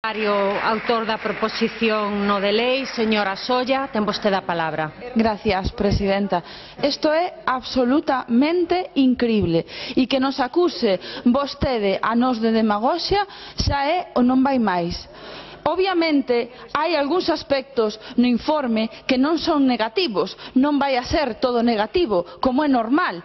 Autor da proposición no de lei, señora Solla, ten vostede a palabra. Gracias, presidenta. Isto é absolutamente incrible e que nos acuse vostede a nós de demagoxia xa é o non vai máis. Obviamente, hai algúns aspectos no informe que non son negativos, non vai a ser todo negativo, como é normal.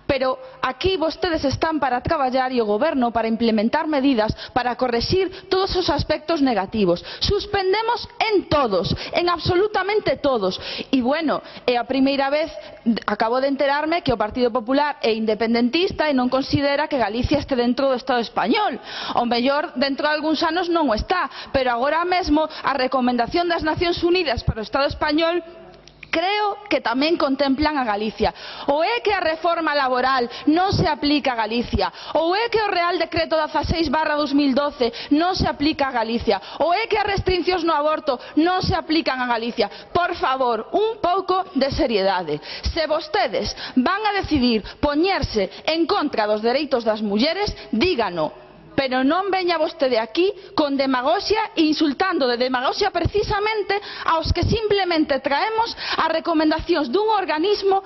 Pero aquí vostedes están para traballar e o goberno para implementar medidas para correxir todos os aspectos negativos. Suspendemos en todos, en absolutamente todos. E bueno, é a primeira vez, acabo de enterarme que o Partido Popular é independentista e non considera que Galicia este dentro do Estado español. O mellor dentro de algúns anos non o está, pero agora mesmo a recomendación das Nacións Unidas para o Estado español creo que tamén contemplan a Galicia. Ou é que a reforma laboral non se aplica a Galicia, ou é que o Real Decreto 16/2012 non se aplica a Galicia, ou é que as restriccións no aborto non se aplican a Galicia. Por favor, un pouco de seriedade. Se vostedes van a decidir poñerse en contra dos dereitos das mulleres, dígano. Pero non veña vostede aquí con demagoxia e insultando de demagoxia precisamente aos que simplemente traemos as recomendacións dun organismo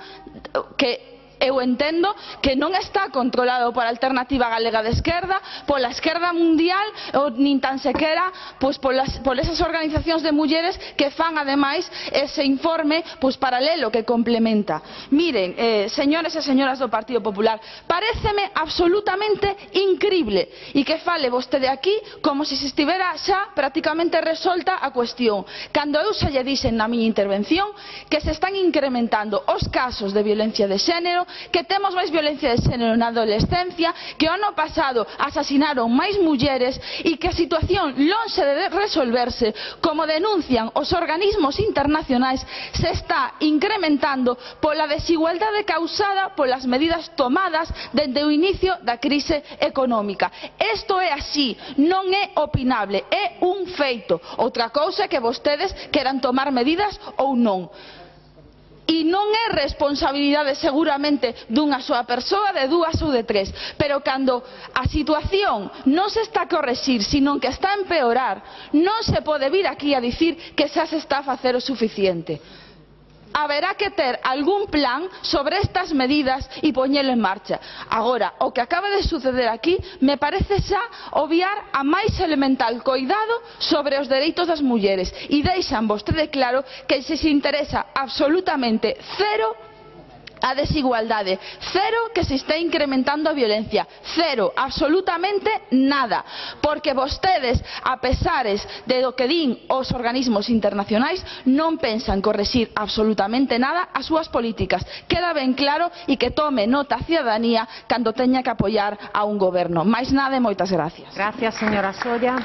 que eu entendo que non está controlado por a Alternativa Galega de Esquerda, pola esquerda mundial ou nin tan sequera por esas organizacións de mulleres que fan ademais ese informe paralelo que complementa. Miren, señores e señoras do Partido Popular, paréceme absolutamente incrible e que fale vostede aquí como se estivera xa prácticamente resolta a cuestión, cando eu xa lle dixen na miña intervención que se están incrementando os casos de violencia de xénero, que temos máis violencia de xénero na adolescencia, que o ano pasado asasinaron máis mulleres e que a situación, lonxe de resolverse, como denuncian os organismos internacionais, se está incrementando pola desigualdade causada polas medidas tomadas desde o inicio da crise económica. Isto é así, non é opinable, é un feito. Outra cousa é que vostedes queran tomar medidas ou non. E non é responsabilidade seguramente dunha soa persoa, de dúas ou de tres, pero cando a situación non se está a correxir, sino que está a empeorar, non se pode vir aquí a dicir que xa se está a facer o suficiente. Haberá que ter algún plan sobre estas medidas e poñelo en marcha. Agora, o que acaba de suceder aquí me parece xa obviar a máis elemental coidado sobre os dereitos das mulleres e deixan vostede claro que se interesa absolutamente cero a desigualdade, cero que se está incrementando a violencia, cero, absolutamente nada, porque vostedes, a pesares de do que din os organismos internacionais, non pensan correxir absolutamente nada as súas políticas. Queda ben claro e que tome nota a cidadanía cando teña que apoiar a un goberno. Máis nada e moitas gracias. Gracias, señora Solla.